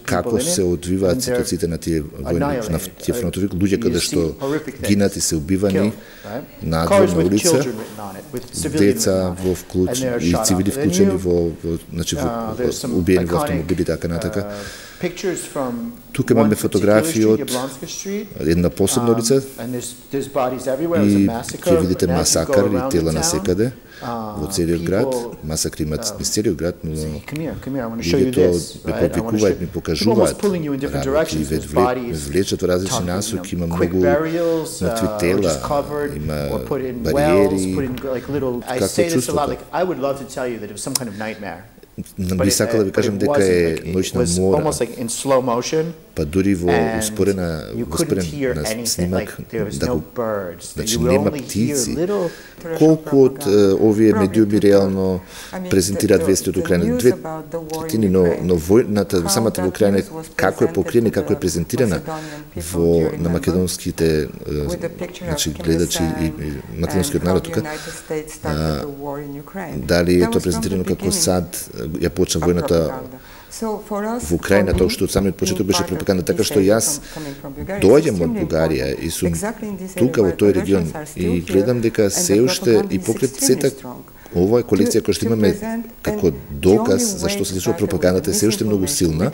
како се одвиваат ситуациите на тие војни, на тие фронтови, луѓе каде што гинат и се убивани надвор на улица, деца во и цивили вклучени во убиени во автомобили, така натака. Тука имаме фотографии од една посебна улица и ќе видите масакар и тела насекаде во целиот град. Масакри имат низ целиот град, но луѓето ме повикуваат, ми покажуваат работи и ме влечат во различни насоки. Има многу мртви тела, има бариери. Какво чувството? Би сакала да ви кажам дека е ноќна мора, па дури во успорен снимак, значи нема птици. Колку од овие медиуми реално презентираат вести од Украина? 2/3, но војната, самата во Украина, како е покриена и како е презентирана на македонските гледачи и македонскиот народ тука, дали е тоа презентирано како сад ја почна војната во Украина, тоа што од самиот почеток беше пропаганда, така што јас доаѓам од Бугарија и сум тука во тој регион и гледам дека се уште и покрај сета ова е колекција која што имаме како доказ зашто се случува пропагандата е се уште многу силна